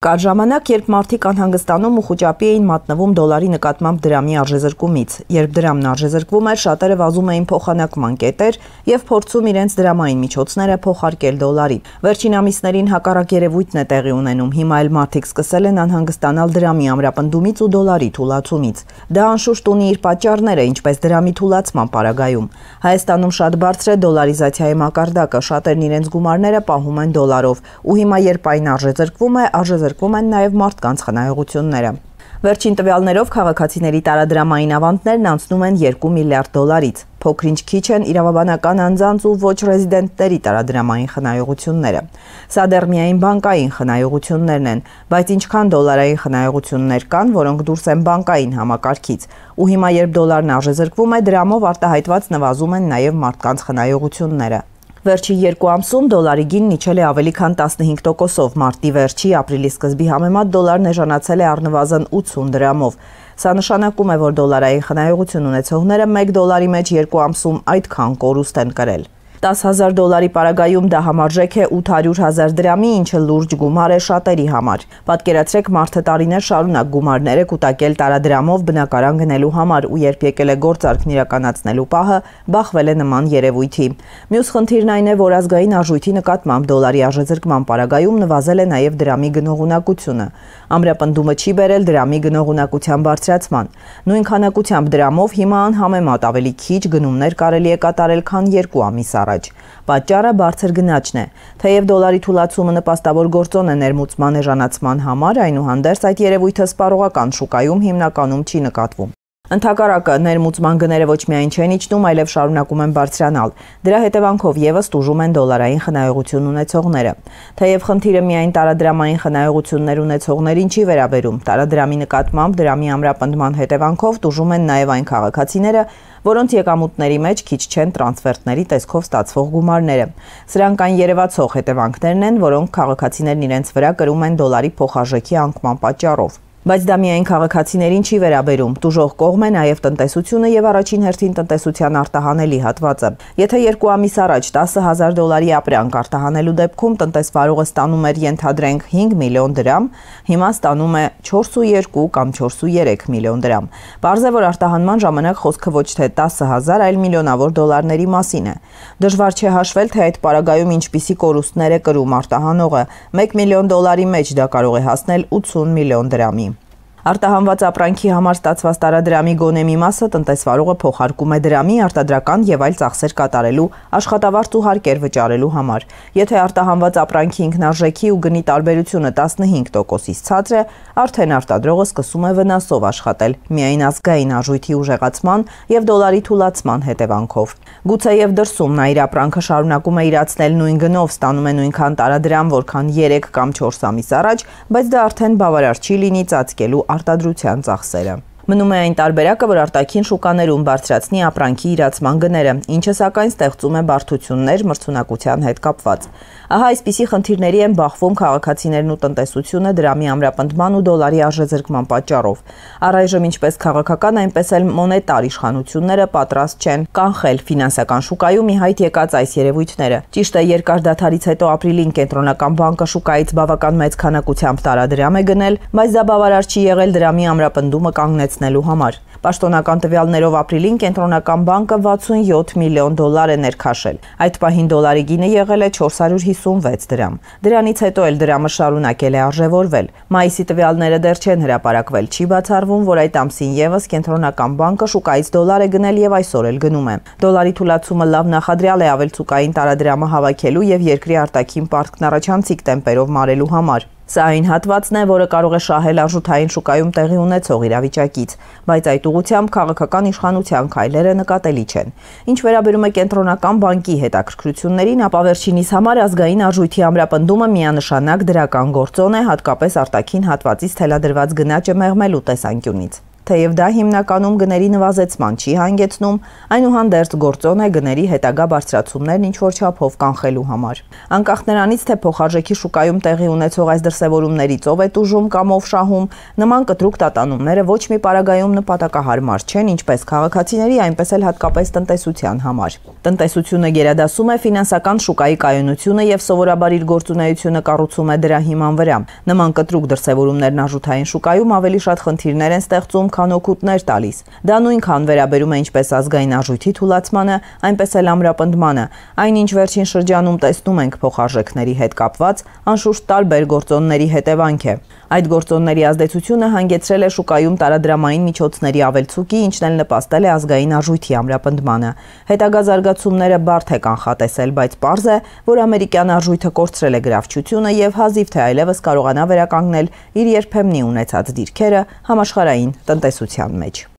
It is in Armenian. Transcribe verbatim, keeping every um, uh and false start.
Կար ժամանակ, երբ մարդիկ անհանգստանում ու խուճապի էին մատնվում դոլարի նկատմամբ դրամի արժեզրկումից, երբ դրամն արժեզրկվում էր, շատերը վազում էին փոխանակման կետեր եւ փորձում իրենց դրամային միջոցները փոխարկել դոլարի։ Վերջին ամիսներին հակառակ երևույթն է տեղի ունենում, հիմա էլ մարդիկ սկսել են անհանգստանալ դրամի ամրապնդումից ու դոլարի թուլացումից։ Դա անշուշտ ունի իր պատճառները, ինչպես դրամի թուլացման պարագայում։ Հայաստանում շատ բարձր է դոլարիզացիայի մակարդակը, շատերն իրենց գումարները պահում են դոլարով, ու հիմա երբ այն արժեզրկվում է, արժեզրկվում են նաև մարդկանց խնայողությունները։ Վերջին տվյալներով քաղաքացիների տարադրամային ավանդներն անցնում են երկու միլիարդ դոլարից։ Փոքրինչ քիչ են իրավաբանական անձանց ու ոչ ռեզիդենտների տարադրամային խնայողությունները։ Սա դեռ միայն բանկային խնայողություններն են, բայց ինչքան դոլարային խնայողություններ կան, որոնք դուրս են բանկային համակարգից։ Ու հիմա երբ դոլարն արժեզրկվում է, դրամով արտահայտված նվազում են նաև մարդկանց խնայողությունները։ Վերջին երկու ամսում դոլարի գինն իջել է ավելի քան տասնհինգ տոկոսով, մարտի վերջի, ապրիլի սկզբի համեմատ դոլարն էժանացել է առնվազն ութսուն դրամով։ Սա նշանակում է, որ դոլարային խնայողություն ունեցողները մեկ դոլարի մեջ երկու ամսում այդքան կորուստ են կրել։ տասը հազար դոլարի պարագայում դա համարժեք է ութ հարյուր հազար դրամի, ինչը լուրջ գումար է շատերի համար։ Պատկերացրեք, մարդը տարիներ շարունակ գումարներ է կուտակել տարադրամով բնակարան գնելու համար ու երբ եկել է գործարքն իրականացնելու պահը, բախվել է նման երևույթի։ Մյուս խնդիրն այն է, որ ազգային արժույթի նկատմամբ դոլարի արժեզրկման պարագայում նվազել է նաև դրամի գնողունակությունը։ Ամրապնդումը չի բերել դրամի գնողունակության բարձրացման։ Նույն քանակությամբ դրամով հիմա անհամեմատ ավելի քիչ գնումներ կարելի է կատարել, քան երկու ամիս առաջ։ Պատճառը բարձր գնաճն է։ Թեև դոլարի թուլացումը նպաստավոր գործոն է ներմուծման էժանացման համար, այնուհանդերձ այդ երևույթը սպառողական շուկայում հիմնականում չի նկատվում։ Ընդհակառակը, ներմուծման գները ոչ միայն չեն իջնում, այլև շարունակում են բարձրանալ։ Դրա հետևանքով եւս տուժում են դոլարային խնայողություն ունեցողները։ Թեև խնդիրը միայն տարադրամային խնայողություններ ունեցողներին չի վերաբերում, տարադրամի նկատմամբ դրամի ամրապնդման հետևանքով տուժում են նաեւ այն քաղաքացիները, որոնց եկամուտների մեջ քիչ չեն տրանսֆերտների տեսքով ստացվող գումարները։ Սրանք այն երևացող հետևանքներն են, որոնք քաղաքացիներն իրենց վրա կրում են դոլարի փոխարժեքի անկման պատճառով։ Բայց դա միայն քաղաքացիներին չի վերաբերում, տուժող կողմ է նաև տնտեսությունը եւ առաջին հերթին տնտեսության արտահանելի հատվածը։ Եթե երկու ամիս առաջ տասը հազար դոլարի ապրանք արտահանելու դեպքում տնտեսվարողը ստանում էր ենթադրենք հինգ միլիոն դրամ, հիմա ստանում է չորսուերկու կամ չորսուերեք միլիոն դրամ։ Պարզ է, որ արտահանման ժամանակ խոսքը ոչ թե տասը հազար, այլ միլիոնավոր դոլարների մասին է։ Դժվար չէ հաշվել, թե այդ պարագայում ինչպիսի կորուստներ է կրում արտահանողը։ մեկ միլիոն դոլարի մեջ դա կարող է հասնել ութսուն միլիոն դրամի։ Արտահանված ապրանքի համար ստացված տարադրամի գոնե մի մասը տնտեսվարողը փոխարկում է դրամի, արտադրական եւ այլ ծախսեր կատարելու, աշխատավարձ ու հարկեր վճարելու համար։ Եթե արտահանված ապրանքի ինքնարժեքի ու գնի տարբերությունը տասնհինգ տոկոսից ցածր է, արդեն արտադրողը սկսում է վնասով աշխատել, միայն ազգային արժույթի ուժեղացման եւ դոլարի թուլացման հետևանքով։ Գուցեև դրսում նա իր ապրանքը շարունակում է իրացնել նույն գնով, ստանում է նույնքան տարադրամ, որքան երեք կամ չորս ամիս առաջ, բայց դա արդեն բավարար չի լինի ծածկելու արտադրության ծախսերը։ Մնում է այն տարբերակը, որ արտաքին շուկաներում բարձրացնի ապրանքի իրացման գները, ինչը սակայն ստեղծում է բարդություններ մրցունակության հետ կապված։ Ահա այսպիսի խնդիրների են բախվում քաղաքացիներն ու տնտեսությունը դրամի ամրապնդման ու դոլարի արժեզրկման պատճառով։ Առայժմ ինչպես քաղաքական, այնպես էլ մոնետար իշխանությունները պատրաստ չեն կանխել ֆինանսական շուկայում ի հայտ եկած այս երևույթները։ Ճիշտ է, երկար դադարից հետո ապրիլին կենտրոնական բանկը շուկայից բավական մեծ քանակությամբ տարադրամ է գնել, բայց դա բավարար չի եղել դրամի ամրապնդումը կանգնեցնելու համար։ Պաշտոնական տվյալներով ապրիլին կենտրոնական բանկը վաթսունյոթ միլիոն դոլար է ներքաշել։ Այդ պահին դոլարի գինը եղել է չորս հարյուր հիսունվեց դրամ։ Դրանից հետո էլ դրամը շարունակել է արժևորվել։ Մայիսի տվյալները դեռ չեն հրապարակվել, չի բացառվում, որ այդ ամսին եւս կենտրոնական բանկը շուկայից դոլար է գնել եւ այսօր էլ գնում է։ Դոլարի թուլացումը լավ նախադրյալ է ավելցուկային տարադրամը հավաքելու եւ երկրի արտաքին պարտքն առաջանցիկ տեմպերով մարելու համար։ Սա այն հատվածն է, որը կարող է շահել արժութային շուկայում տեղի ունեցող իրավիճակից, բայց այդ ուղղությամբ քաղաքական իշխանության քայլերը նկատելի չեն։ Ինչ վերաբերում է կենտրոնական բանկի հետաքրքրություններին, ապա վերջինիս համար ազգային արժույթի ամրապնդումը միանշանակ դրական գործոն է, հատկապես արտաքին հատվածից թելադրված գնաճը մեղմելու տեսանկյունից։ Թեև դա հիմնականում գների նվազեցման չի հանգեցնում, այնուհանդերձ գործոն է գների հետագա բարձրացումներն ինչ-որ չափով կանխելու համար։ Անկախ նրանից, թե փոխարժեքի շուկայում տեղի ունեցող այս դրսևորումներից ով է տուժում կամ ով շահում, նման կտրուկ տատանումները ոչ մի պարագայում նպատակահարմար չեն ինչպես քաղաքացիների, այնպես էլ հատկապես տնտեսության համար։ Տնտեսությունը գերադասում է ֆինանսական շուկայի կայունությունը եւ սովորաբար իր գործունեությունը կառուցում է դրա հիման վրա։ Նման կտրուկ դրսևորումներն արժութային շուկայում ավելի շատ խնդիրներ են ստեղծում, քան օգուտներ տալիս։ Դա նույնքան վերաբերում է ինչպես ազգային արժույթի թուլացմանը, այնպես էլ ամրապնդմանը։ Այնինչ վերջին շրջանում տեսնում ենք փոխարժեքների հետ կապված, անշուշտ տարբեր գործոնների հետևանք է։ Այդ գործոնների ազդեցությունը հանգեցրել է շուկայում տարադրամային միջոցների ավելցուկի, ինչն էլ նպաստել է ազգային արժույթի ամրապնդմանը։ Հետագա զարգացումները բարդ է կանխատեսել, բայց պարզ է, որ ամերիկյան արժույթը կորցրել է գրավչությունը եւ հազիվ թե այլևս կարողանա վերականգնել իր երբեմնի ունեցած դիրքերը համաշխարհային տնտեսության մեջ։